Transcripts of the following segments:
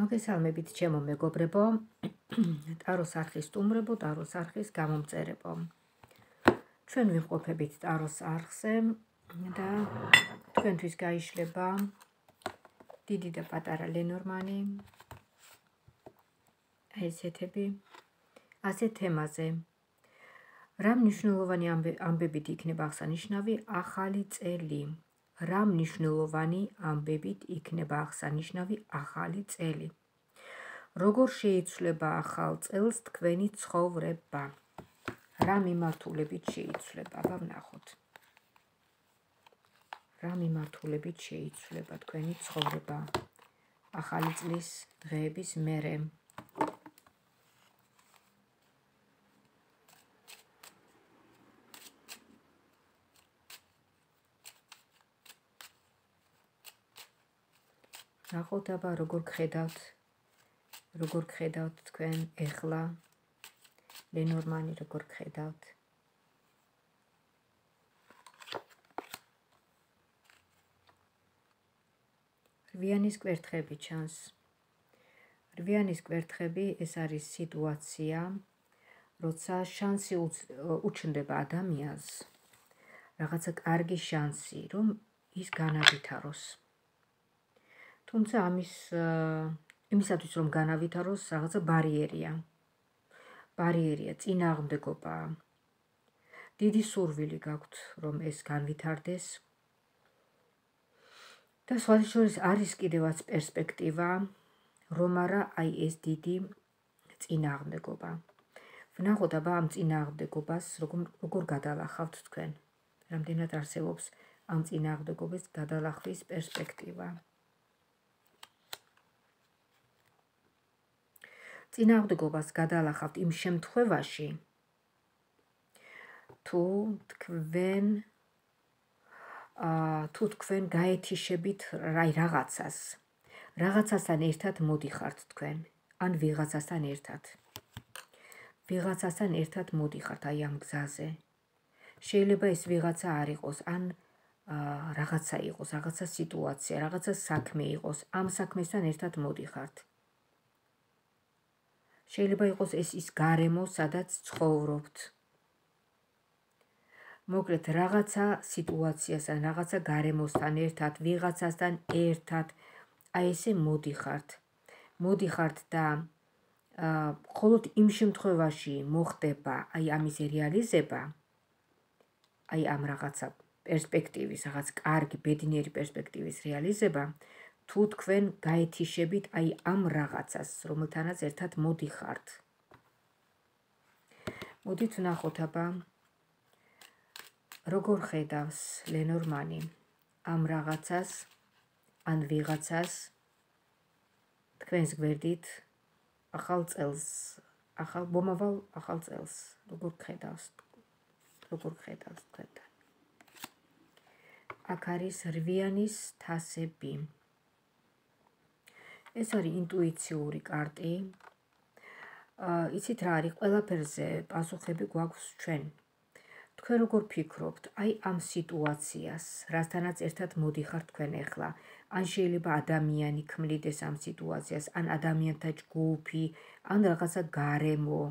მოგესალმებით ჩემო მეგობრებო, ტაროს არხის სტუმრებო, ტაროს არხის გამომწერებო. ჩვენ ვიმყოფებით ტაროს არხზე და თქვენთვის გაიშლება დიდი და პატარა ლენორმანი, ესეთები, ასეთ თემაზე. რა მნიშვნელოვანი ამბებით იქნება აღსანიშნავი ახალი წელი? რა მნიშვნელოვანი ამბებით იქნება აღსანიშნავი ახალი წელი? როგორ შეიცვლება ახალ წელს თქვენი ცხოვრება? რა მიმართულებით შეიცვლება? ვნახოთ. რა მიმართულებით შეიცვლება თქვენი ცხოვრება ახალი წლის დღეების მერე? ნახოთ აბა როგორ გხედავთ თქვენ ეხლა ლენორმანი როგორ გხედავთ? რვიანის კვერთხები ჩანს. რვიანის კვერთხები ეს არის სიტუაცია, როცა შანსი უჩნდება ადამიანს, რაღაცა კარგი შანსი, რომ ის განავითაროს. თუმცა იმისათვის რომ განავითაროს, რაღაცა ბარიერია, წინააღმდეგობა. დიდი სურვილი გაქვთ, რომ ეს განვითარდეს. და სხვათა შორის არის კიდევაც პერსპექტივა, რომ არა აი ეს დიდი წინააღმდეგობა. ვნახოთ აბა ამ წინააღმდეგობას როგორ გადალახავთ თქვენ. რამდენად არსებობს ამ წინააღმდეგობის გადალახვის პერსპექტივა. წინააღმდეგობას გადალახავთ იმ შემთხვევაში, თუ თქვენ გაეთიშებით რაღაცასთან ერთად მოდიხართ თქვენ, ან ვიღაცასთან ერთად მოდიხართ აი ამ გზაზე. შეიძლება ეს ვიღაცა არ იყოს, ან რაღაცა იყოს, რაღაცა სიტუაცია, რაღაცა საქმე იყოს, ამ საქმესთან ერთად მოდიხართ. შეიძლება იყოს ეს ის გარემო, სადაც ცხოვრობთ. მოკლედ რაღაცა სიტუაციასთან, რაღაცა გარემოსთან ერთად, ვიღაცასთან ერთად, აი ესე მოდიხართ და მხოლოდ იმ შემთხვევაში მოხდება აი ამის რეალიზება, აი ამ რაღაცა პერსპექტივის, რაღაც კარგი, ბედნიერი პერსპექტივის რეალიზება, თუ თქვენ გაეთიშებით აი ამ რაღაცას, რომელთანაც ერთად მოდიხართ. მოდით ვნახოთ აბა, როგორ ხედავს ლენორმანი ამ რაღაცას, ან ვიღაცას თქვენს გვერდით ახალ წელს, მომავალ ახალ წელს, როგორ ხედავს თქვენთან. აქ არის რვიანის თასები. ეს არის ინტუიციური კარტი. იცით რა არის, ყველაფერზე პასუხები გვაქვს ჩვენ. თქვენ როგორ ფიქრობთ აი ამ სიტუაციას, რასთანაც ერთად მოდიხართ თქვენ ახლა, ან შეიძლება ადამიანი ქმნიდეს ამ სიტუაციას, ან ადამიანთა ჯგუფი, ან რაღაცა გარემო,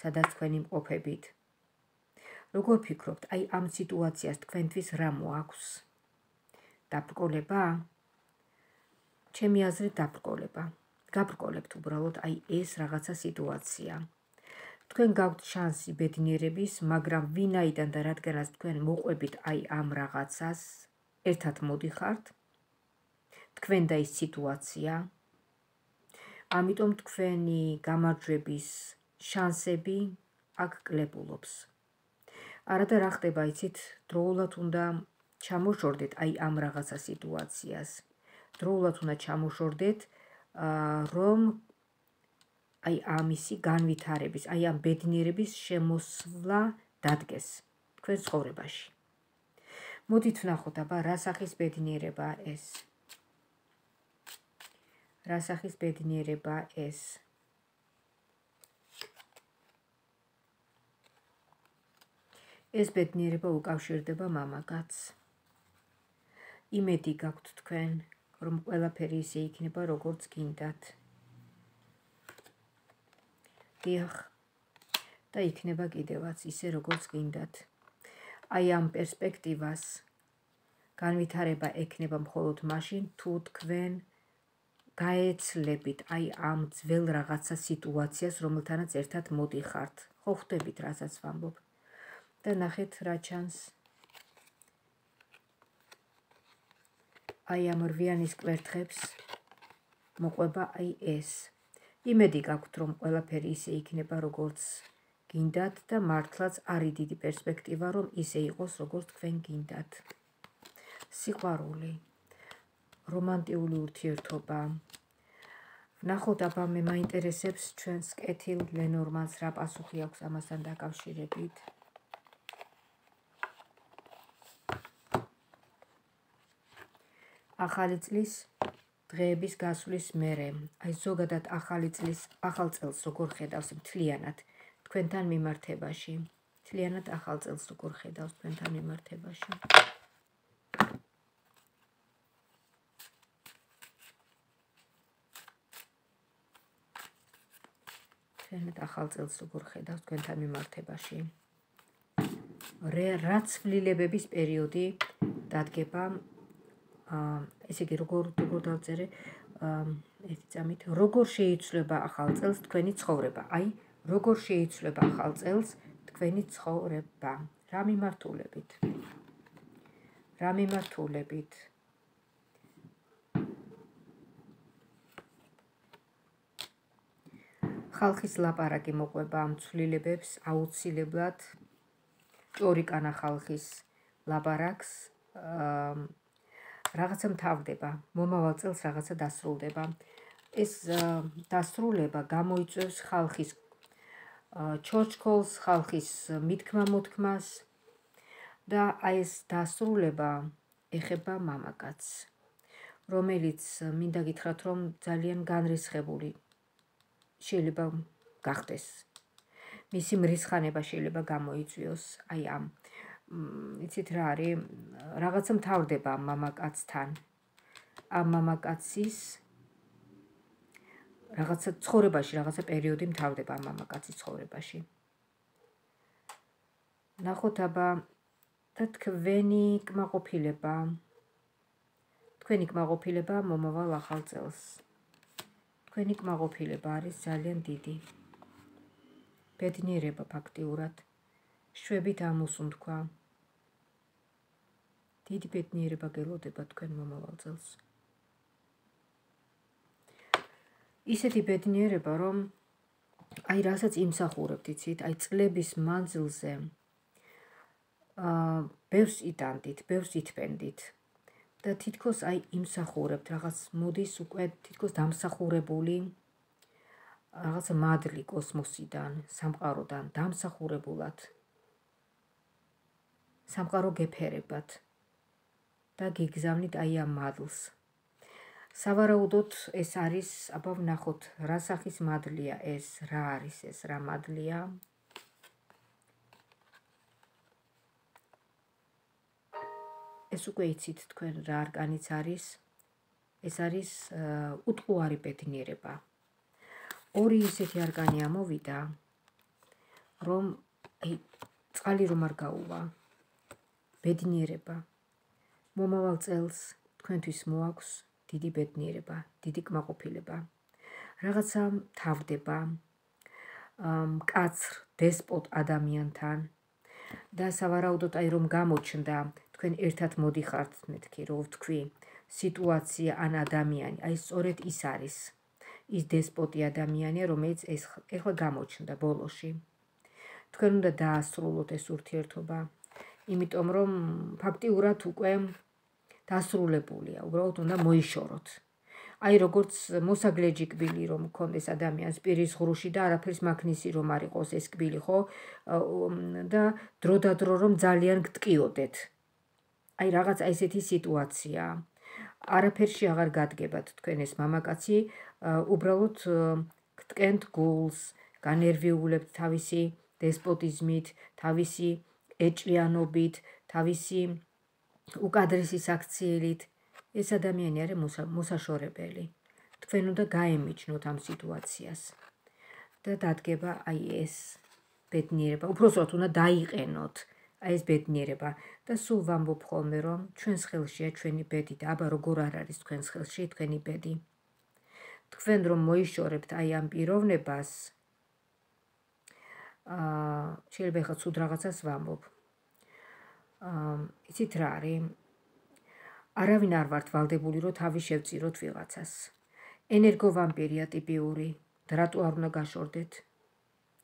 სადაც თქვენ იმყოფებით. როგორ ფიქრობთ აი ამ სიტუაციას თქვენთვის რა მოაქვს? დაბრკოლება? ჩემი აზრით დაბრკოლება. გაბრკოლებთ უბრალოდ აი ეს რაღაცა სიტუაცია. თქვენ გაქვთ შანსი ბედნიერების, მაგრამ ვინაიდან და რადგანაც თქვენ მოყვებით აი ამ რაღაცას, ერთად მოდიხართ, თქვენ და ის სიტუაცია, ამიტომ თქვენი გამარჯვების შანსები აქ კლებულობს. არადა რა ხდება, იცით, დროულად უნდა ჩამოშორდეთ აი ამ რაღაცა სიტუაციას. დროულად უნდა ჩამოშორდეთ, რომ აი ამისი განვითარების, აი ამ ბედნიერების შემოსვლა დადგეს თქვენ ცხოვრებაში. მოდით ვნახოთ აბა, რა სახის ბედნიერება ეს? რა სახის ბედნიერება ეს? ეს ბედნიერება უკავშირდება მამაკაცს. იმედი გაქვთ თქვენ, რომ ყველაფერი ისე იქნება, როგორც გინდათ. დიახ. და იქნება კიდევაც ისე როგორც გინდათ. აი ამ პერსპექტივას განვითარება ექნება მხოლოდ მაშინ, თუ თქვენ გაეცლებით აი ამ ძველ რაღაცა სიტუაციას, რომელთანაც ერთად მოდიხართ. ხო ხვდებით, რასაც ვამბობ. და ნახეთ რა ჩანს. აი ამ რვიანის კვერთხებს მოყვება აი ეს. იმედი გაქვთ, რომ ყველაფერი ისე იქნება, როგორც გინდათ და მართლაც არის დიდი პერსპექტივა, რომ ისე იყოს, როგორც თქვენ გინდათ. სიყვარული, რომანტიული ურთიერთობა. ვნახოთ, აბა მე მაინტერესებს ჩვენს კეთილ ლენორმანს რა პასუხი აქვს ამასთან დაკავშირებით. ახალი წლის დღეების გასვლის მერე, აი ზოგადად ახალ წელს როგორ ხედავს მთლიანად თქვენთან მიმართებაში. მთლიანად ახალ წელს როგორ ხედავს თქვენთან მიმართებაში. მთლიანად ახალ წელს როგორ ხედავს თქვენთან მიმართებაში. რაც ცვლილებების პერიოდი დადგება, ესე იგი როგორ დავწერე, ერთი წამით, როგორ შეიცვლება ახალ წელს თქვენი ცხოვრება. აი, როგორ შეიცვლება ახალ წელს თქვენი ცხოვრება. რა მიმართულებით? რა მიმართულებით? ხალხის ლაპარაკი მოყვება ამ ცვლილებებს აუცილებლად. ჭორიკანა ხალხის ლაპარაკს რაღაცა მთავრდება, მომავალ წელს რაღაცა დასრულდება. ეს დასრულება გამოიწვევს ხალხის ჩორჩქოლს, ხალხის მითქმა-მოთქმას და აი ეს დასრულება ეხება მამაკაცს, რომელიც მინდა გითხრათ, რომ ძალიან განრისხებული შეიძლება გახდეს. მისი მრისხანება შეიძლება გამოიწვიოს აი ამ იცით რა არის, რაღაცა მთავრდება ამ მამაკაცთან. ამ მამაკაცის რაღაცა ცხოვრებაში, რაღაცა პერიოდი მთავრდება ამ მამაკაცის ცხოვრებაში. ნახოთ აბა და თქვენი კმაყოფილება მომავალ ახალ წელს. თქვენი კმაყოფილება არის ძალიან დიდი. ბედნიერება ფაქტიურად. შვებით ამოსუნთქვა. დიდი ბედნიერება გელოდება თქვენ მომავალ წელს. ისეთი ბედნიერება, რომ აი რასაც იმსახურებთ, იცით, აი წლების მანძილზე ბევრს იტანდით, ბევრს ითვენდით და თითქოს აი იმსახურებთ, რაღაც მოდის უკვე თითქოს დამსახურებული რაღაც მადლი კოსმოსიდან, სამყაროდან დამსახურებულად. სამყარო გეფერებათ და გიგზავნით აი ამ მადლს. სავარაუდოდ ეს არის, აბა ვნახოთ, რა სახის მადლია ეს, რა არის ეს, რა მადლია. ეს უკვე იცით თქვენ რა არკანიც არის. ეს არის უტყუარი ბედნიერება. ორი ისეთი არკანი ამოვიდა, რომ წყალი რომ არ გაუვა. ბედნიერება. მომავალ წელს თქვენთვის მოაქვს დიდი ბედნიერება, დიდი კმაყოფილება. რაღაცა მთავრდება მკაცრ დესპოტ ადამიანთან და სავარაუდოდ აი რომ გამოჩნდა თქვენ ერთად მოდიხართ, მეთქი რო ვთქვი, სიტუაცია ან ადამიანი, აი სწორედ ის არის. ის დესპოტი ადამიანია, რომელიც ეხლა გამოჩნდა ბოლოში. თქვენ უნდა დაასრულოთ ეს ურთიერთობა, იმიტომ რომ ფაქტიურად უკვე დასრულებულია, უბრალოდ უნდა მოიშოროთ. აი როგორც მოსაგლეჯი კბილი რომ მქონდეს ადამიანს პირის ღრუში და არაფერს მაგნისი რომ არ იყოს ეს კბილი, ხო? და დროდადრო რომ ძალიან გტკიოდეთ. აი რაღაც ესეთი სიტუაცია. არაფერში აღარ გადგებათ თქვენ ეს მამაკაცი, უბრალოდ გტკენთ გულს, განერვიულებთ თავისი დესპოტიზმით, თავისი ეჭვიანობით, თავისი უკადრესი საქციელით. ეს ადამიანი არის მოსაშორებელი. თქვენ უნდა გაემიჯნოთ ამ სიტუაციას და დადგება აი ეს ბედნიერება. უпроსტოდ უნდა დაიყენოთ აი ეს ბედნიერება და სულ ვამბობ ხოლმე, რომ ჩვენს ხელშია ჩვენი ბედი და აბა როგორ არ არის თქვენს ხელში თქვენი ბედი. თქვენ რომ მოიშორებთ აი ამ პიროვნებას, შეიძლება ხა ცუდ რაღაცას ვამბობ. იცით რა არის? არავინ არ ვართ ვალდებული, რომ თავი შევწიროთ ვიღაცას. ენერგოვამპირია ტიპიური, რატო არ უნდა გაშორდეთ?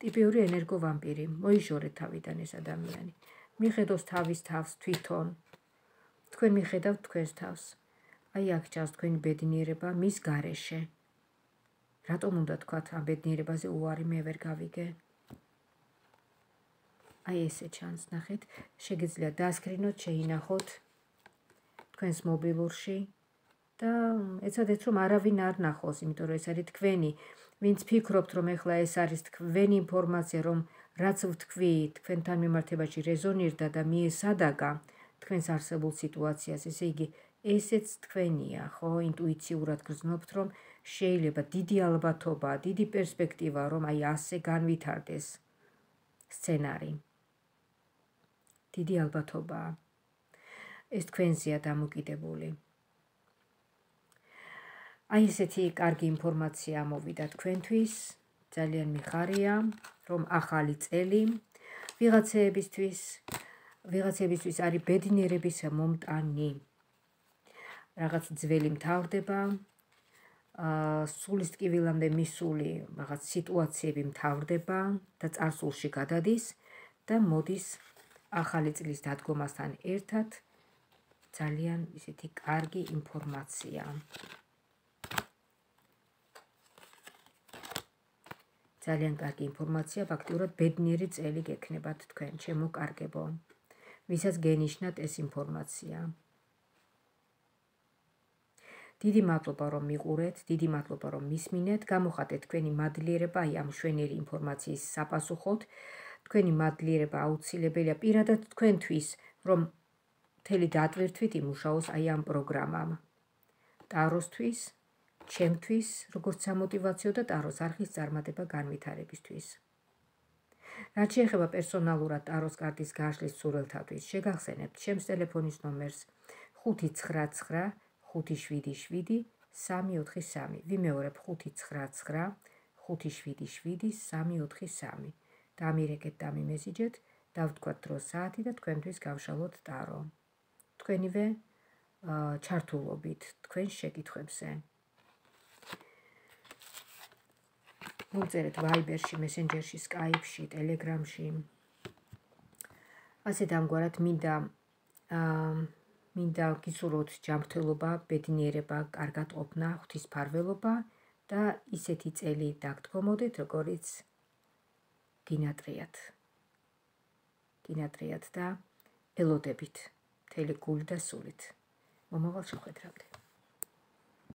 ტიპიური ენერგოვამპირი, მოიშორეთ თავიდან ეს ადამიანი. მიხედავს თავის თავს თვითონ. თქვენ მიხედავთ თქვენს თავს. აი აქ ჩანს თქვენი ბედნიერება მის გარეშე. რატომ უნდა თქვათ ამ ბედნიერებაზე უარი მე ვერ გავიგე? აი ესე ჩანს, ნახეთ, შეგიძლიათ დაასკრინოთ, შეინახოთ თქვენს მობილურში და ეცადეთ რომ არავინ არ ნახოს, იმიტომ რომ ეს არის თქვენი, ვინც ფიქრობთ რომ ეხლა ეს არის თქვენი ინფორმაცია, რომ რაც ვთქვი, თქვენთან მიმართებაში რეზონირდა და მიესადაგა თქვენს არსებულ სიტუაციას, ესე იგი ესეც თქვენია, ხო? ინტუიციურად გრძნობთ, რომ შეიძლება დიდი ალბათობა, დიდი პერსპექტივა, რომ აი ასე განვითარდეს სცენარი. დიდი ალბათობაა. ეს თქვენზეა დამოკიდებული. აი ესეთი კარგი ინფორმაცია მოვიდა თქვენთვის, ძალიან მიხარია, რომ ახალი წელი ვიღაცებისთვის არის ბედნიერების მომტანი. რაღაც ძველი მთავრდება, სულის ტკივილამდე მისული რაღაც სიტუაციები მთავრდება და წარსულში გადადის და მოდის ახალი წლის დადგომასთან ერთად ძალიან ისეთი კარგი ინფორმაცია. ძალიან კარგი ინფორმაცია, ფაქტიურად ბედნიერი წელი გექნებათ თქვენ, ჩემო კარგებო, ვისაც გენიშნათ ეს ინფორმაცია. დიდი მადლობა რომ მიყურეთ, დიდი მადლობა რომ მისმინეთ, გამოხატეთ თქვენი მადლიერება აი ამ მშვენიერი ინფორმაციის საპასუხოდ. თქვენი მადლიერება აუცილებელია პირადად თქვენთვის, რომ მთელი დატვირთვით იმუშაოს აი ამ პროგრამამ. ტაროსთვის, ჩემთვის, როგორც სამოტივაციო და ტაროს არხის წარმატება განვითარებისთვის. რაც შეეხება პერსონალურად ტაროს კარტის გაშლის სურვილთათვის, შეგახსენებთ ჩემს ტელეფონის ნომერს 599 577 343. ვიმეორებ 599 577 343. დამირეკეთ, დამიმესიჯეთ, დავთქვათ დრო საათი და თქვენთვის გავშალოთ ტარო. თქვენივე ჩართულობით თქვენს შეკითხვებზე. მოგწერეთ ვაიბერში, მესენჯერში, სკაიპში, ტელეგრამში. ასე დამგვარად მინდა გისურვოთ ჯანმრთელობა, ბედნიერება, კარგად ყოფნა, ღვთისმფარველობა და ისეთი წელი დაგდგომოდეთ, როგორც გინატრიათ და ელოდებით მთელი გული და სულით. მომავალ შეხვედრამდე.